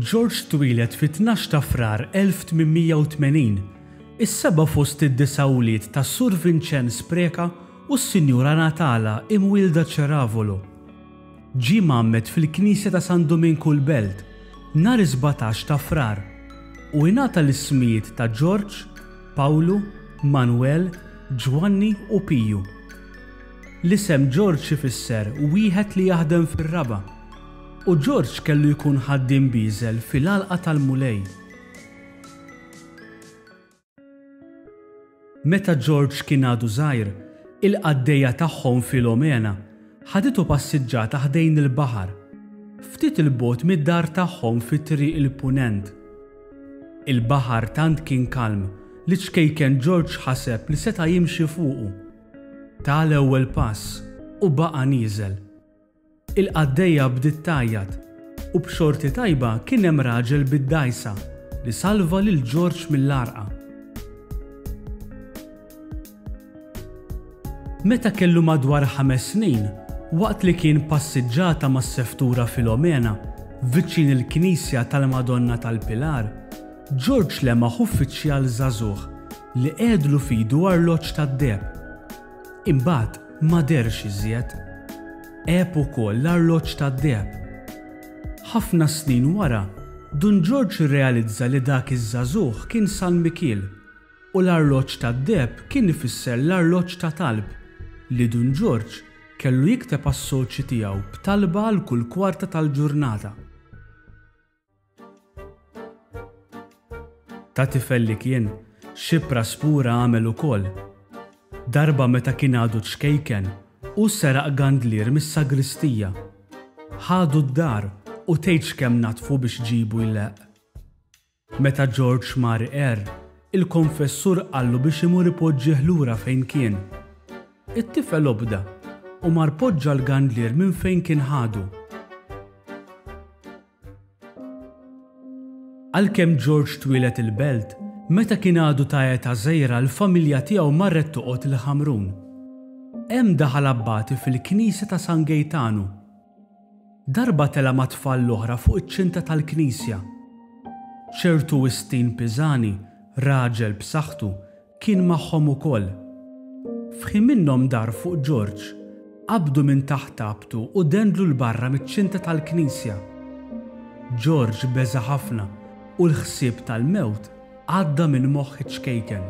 George twieled fit-tnax ta' Frar 1880, is-seba' fost id-disa' wlied tas-Sur Vinċenz Preca u s-Sinjura Natala imwielda Ceravolo. Ġie mgħammed fil-Knisja ta' San Duminku l-Belt nhar is-17 ta' Frar u ingħata l-ismijiet ta' Ġorġ, Pawlu, Manwel, Ġwanni u Piju. L-isem Ġorġ ifisser wieħed li jaħdem fir-raba' u Ġorġ kellu jkun ħaddiem bieżel fil-għalqa tal-Mulej. Meta George kien għadu żgħir, il-qaddejja tagħhom Filomena ħaditu passiġġata ħdejn il-baħar, ftit 'il bogħod mid-dar tagħhom fi Triq il-Punent. Il-baħar tant kien kalm li ċ-ċkejken George ħaseb li seta' jimxi fuqu. Ta l-ewwel pass u baqa' nieżel. Il-qaddejja bdiet tgħajjat, u b'xorti tajba kien hemm raġel bid-dgħajsa li salva lil George mill-għarqa. Meta kellu madwar ħames snin, waqt li kien passiġġata mas-seftura Filomena viċin il-knisja tal-Madonna tal-Pilar, George lemaħ uffiċjal żagħżugħ li qegħedlu f'idu arloġġ tad-deheb. Imbagħad ma dehrx iżjed. Għeb ukoll l-arloġġ tad-deheb. Ħafna snin wara, Dun Ġorġ irrealizza li dak iż-żagħżugħ kien San Mikiel u l-arloġġ tad-deheb kien ifisser l-arloġġ ta' talb li Dun Ġorġ kellu jikteb għas-soċji tiegħu b'talba għal kull kwarta tal-ġurnata. Ta' tifel li kien, xi praspura għamel ukoll. Darba meta kien għadu ċkejken, hu seraq gandlier mis-sagristija. Ħadu d-dar u tgħidx kemm naddfu biex ġibu jleqq. Meta George mar iqerr, il-konfessur qallu biex imur ipoġġih lura fejn kien. It-tifel obda u mar poġġa l-gandlier minn fejn kien ħadu. Għalkemm George twieled il-Belt, meta kien għadu ta' età żgħira l-familja tiegħu marret toqgħod il-Ħamrun. Hemm daħal abbati fil-knisja ta' San Gejtanu. Darba tela' mat-tfal l-oħra fuq iċ-ċinta tal-knisja. Ċertu Wistin Pisani, raġel b'saħħtu, Kien magħhom ukoll. F'ħin minnhom dar fuq George, qabdu minn taħt abtu u dendlu 'l barra miċ-ċinta tal-knisja. George beża' ħafna u l-ħsieb tal-mewt għadda minn moħħ iċ-ċkejken.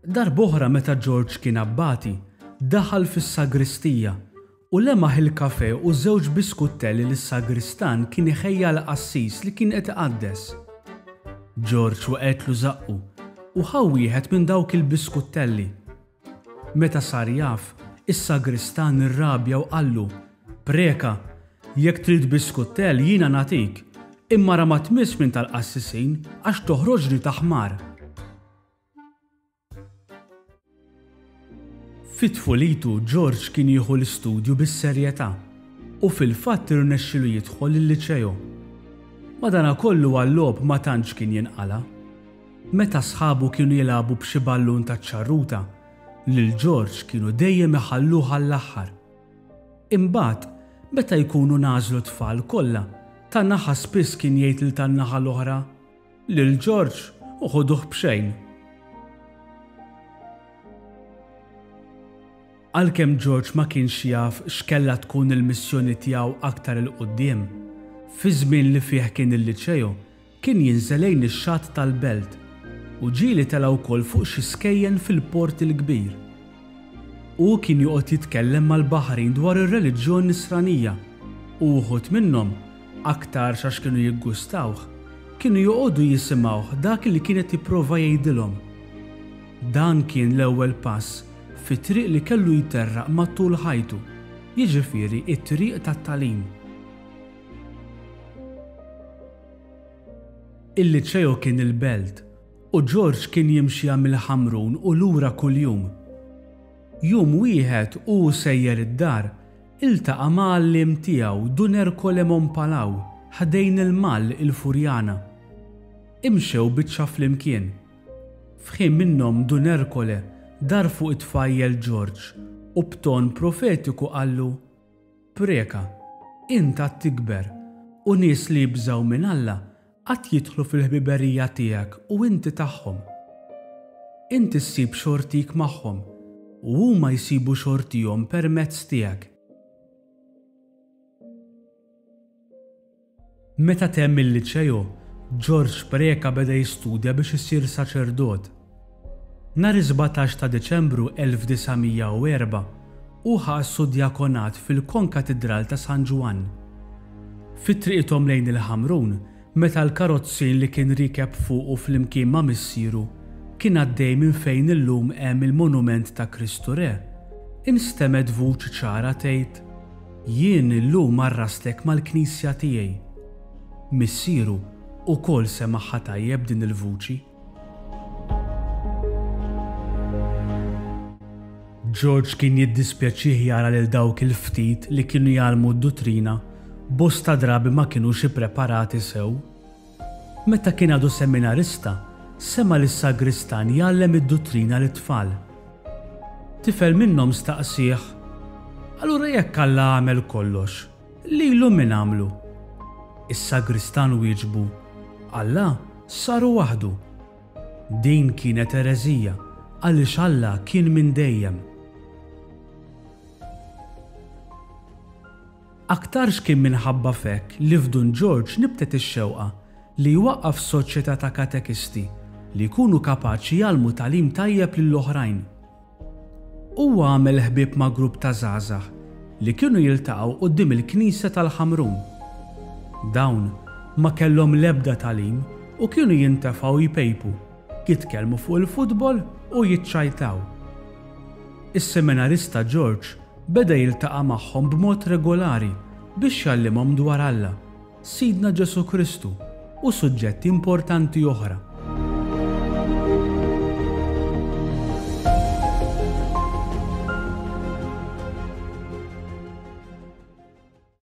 Darb'oħra meta George kien abbati, daħal fis-sagristija u lemaħ il-kafè u żewġ biskuttelli li s-sagristan kien iħejji għall-qassis li kien qed iqaddes. George waqgħetlu żaqqu u ħa wieħed minn dawk il-biskuttelli. Meta sar jaf, is-sagristan irrabja u qallu, Preka, jekk trid biskuttell jiena nagħtik, imma ara ma tmissx minn tal-qassisin għax toħroġni ta' ħmar. Fi tfulitu George kien jieħu l-istudju bis-serjetà u fil-fatt irnexxielu jidħol il-Liċeo. Madanakollu għal-logħob ma tantx kien jinqala'. Meta sħabu kienu jilagħbu b'xi ballun taċ-ċarruta, lil George kienu dejjem iħalluh għall-aħħar. Imbagħad, meta jkunu ngħażlu t-tfal kollha, ta' naħa spiss kien jgħid lil tan-naħa l-oħra, Lil George u ħuduh b'xejn. Għalkemm George ma kienx jaf x'kellha tkun il-missjoni tiegħu aktar 'il quddiem, fiż-żmien li fih kien il-Liċeo kien jinżel lejn ix-xatt tal-Belt u ġieli tela' wkoll fuq xi skejjen fil-Port il-Kbir. Hu kien joqgħod jitkellem mal-baħrin dwar ir-reliġjon Nisranija u wħud minnhom, aktarx għax kienu jiggustawh, kienu joqogħdu jisimgħuh dak li kien qed jipprova jgħidilhom. Dan kien l-ewwel pass fit-triq li kellu jterraq matul ħajtu, jiġifieri t-triq tat-tagħlim. Il-Liċeo kien il-Belt u George kien jimxiha mill-Ħamrun u lura kuljum. Jum wieħed u hu sejjer id-dar, iltaqa' ma' għalliem tiegħu Dun Ercole Mompalaw ħdejn il-Mall il-Furjana. Imxew biċċa flimkien. F'ħin minnhom Dun Ercole dar fuq it-tfajjel George u b'ton profetiku qallu, Preca. Int għad tikber, u nies li jibżgħu minn Alla għad jidħlu fil-ħbiberija tiegħek u inti tagħhom. Inti ssib xortik magħhom, u huma jsibu xortihom permezz tiegħek. Meta temm il-liċeo, Ġorġ Preca beda jistudja biex isir saċerdot. Nhar is-17 ta' Diċembru 1904, hu ħa s-sudjakonat fil-Konkatidral ta' San Ġwann. Fi triqithom lejn il-Ħamrun, meta l-karozzin li kien riekeb fuqu flimkien ma' missieru kien għaddej minn fejn illum hemm il-monument ta' Kristu Re, instemgħet vuċi ċara tgħid, Jien illum għarrastek mal-Knisja tiegħi. Missieru ukoll semagħha tajjeb din il-vuċi. George kien jiddispjaċih jara lil dawk il-ftit li kienu jgħallmu d-duttrina bosta drabi ma kinux ippreparati sew. Meta kien għadu seminarista, sema' lis-sagristan jgħallem id-duttrina lit-tfal. Tifel minnhom staqsieh, Allura jekk Alla għamel kollox, lilu min għamlu? Is-sagristan wieġbu, Alla saru waħdu. Din kienet ereżija għaliex Alla kien minn dejjem. Aktarx kien minħabba f'hekk li f'Dun Ġorġ nibtet ix-xewqa li jwaqqaf soċjetà ta' katekisti li jkunu kapaċi jgħallmu tagħlim tajjeb lill-oħrajn. Huwa għamel ħbieb ma' grupp ta' żgħażagħ li kienu jiltaqgħu quddiem il-knisja tal-Ħamrun. Dawn ma kellhom l-ebda tagħlim u kienu jintefgħu jpejpu, jitkellmu fuq il-futbol u jiċċajtaw. Is-seminarista Ġorġ beda jiltaqa' magħhom b'mod regolari biex jgħallimhom dwar Alla, Sidna Ġesù Kristu u suġġetti importanti oħra.